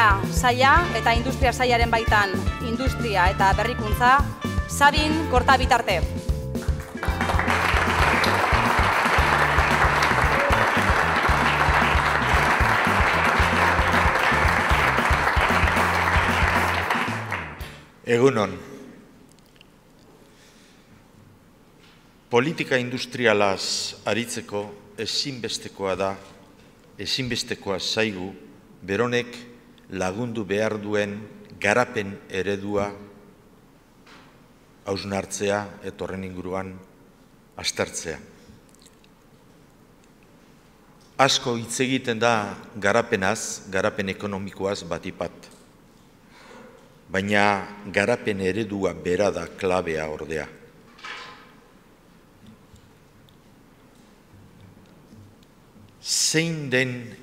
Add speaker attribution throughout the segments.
Speaker 1: Ekonomia saila eta industria sailaren baitan industria eta berrikuntza, Sabin Kortabitarte.
Speaker 2: Egunon. Politika industrialaz aritzeko ezinbestekoa zaigu beronek lagundu behar duen garapen eredua hausnartzea eta horren inguruan aztertzea. Asko hitz egiten da garapenaz, garapen ekonomikoaz batipat. Baina garapen eredua bera da klabea ordea. Zein den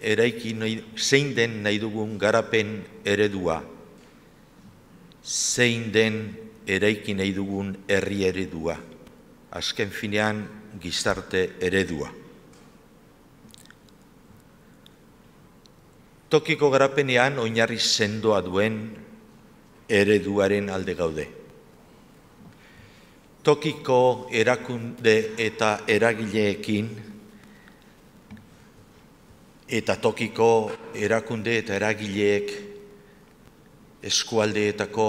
Speaker 2: nahi dugun garapen eredua? Zein den eraiki nahi dugun herri eredua? Azken finean gizarte eredua. Tokiko garapenean oinarri sendoa duen ereduaren alde gaude. Tokiko erakunde eta eragileekin eta tokiko erakunde eta eragileek eskualdeetako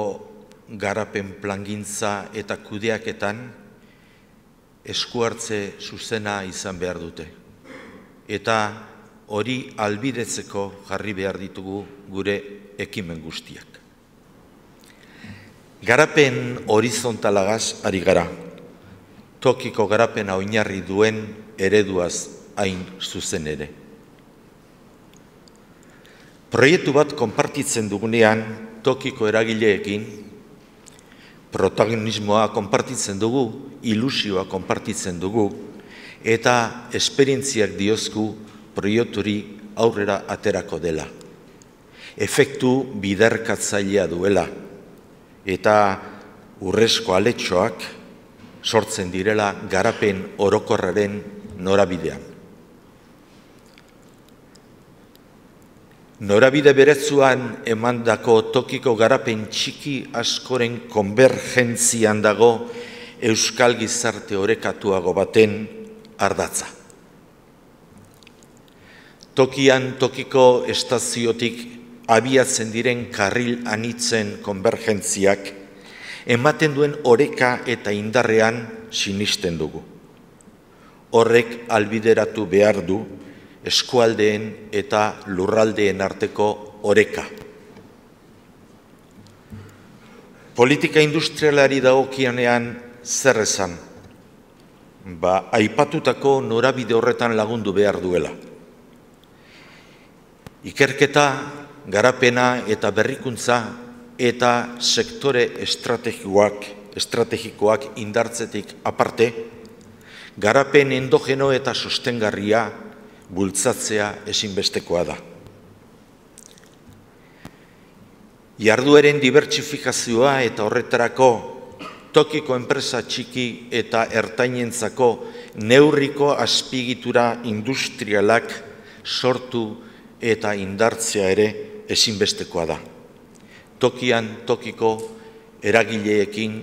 Speaker 2: garapen plangintza eta kudeaketan eskuhartze zuzena izan behar dute. Eta hori ahalbidetzeko jarri behar ditugu gure ekimen guztiak. Garapen horizontalagaz ari gara. Tokiko garapena oinarri duen ereduaz hain zuzen ere. Proiektu bat konpartitzen dugunean tokiko eragileekin, protagonismoa konpartitzen dugu, ilusioa konpartitzen dugu, eta esperientziak diozku proiekturi aurrera aterako dela. Efektu biderkatzailea duela, eta urrezko aletxoak sortzen direla garapen orokorraren norabidean. Norabide beretsuan emandako tokiko garapen txiki askoren konbergentzian dago euskal gizarte orekatuago baten ardatza. Tokian tokiko estaziotik abiatzen diren karril anitzen konbergentziak ematen duen oreka eta indarrean sinisten dugu. Horrek albideratu behar du eskualdeen eta lurraldeen arteko oreka. Politika industrialari dagokionean zer esan? Aipatutako norabide horretan lagundu behar duela. Ikerketa, garapena eta berrikuntza eta sektore estrategikoak indartzetik aparte, garapen endogeno eta sostengarria bultzatzea ezinbestekoa da. Jardueren dibertsifikazioa eta horretarako tokiko enpresa txiki eta ertainentzako neurriko azpiegitura industrialak sortu eta indartzea ere ezinbestekoa da. Tokian tokiko eragileekin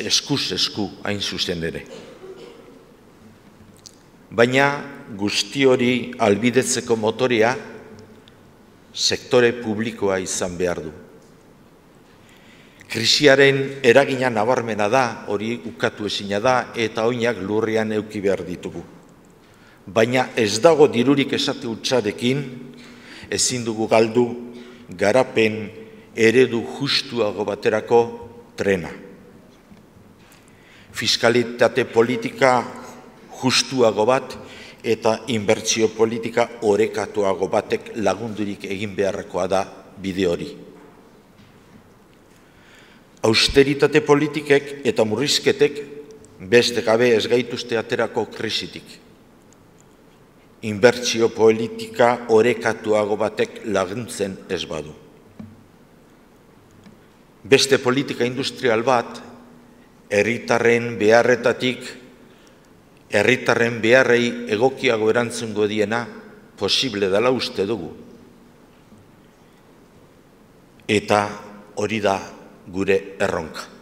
Speaker 2: eskuz esku hain zuzen ere. Baina guzti hori ahalbidetzeko motorea sektore publikoa izan behar du. Krisiaren eragina nabarmena da, hori ukatu ezina da, eta oinak lurrean eduki behar ditugu. Baina ez dago dirurik esate hutsarekin, ezin dugu galdu garapen eredu justuago baterako trena. Fiskalitate politika justuago bat eta inbertsio politika orekatuago batek lagundurik egin beharrekoa da bide hori. Austeritate politikek eta murrizketek beste gabe ez gaituzte aterako krisitik. Inbertsio politika orekatuago batek laguntzen ez badu. Beste politika industrial bat, herritarren beharretatik, herritarren beharrei egokiago erantzungo diena posible dela uste dugu. Eta hori da gure erronka.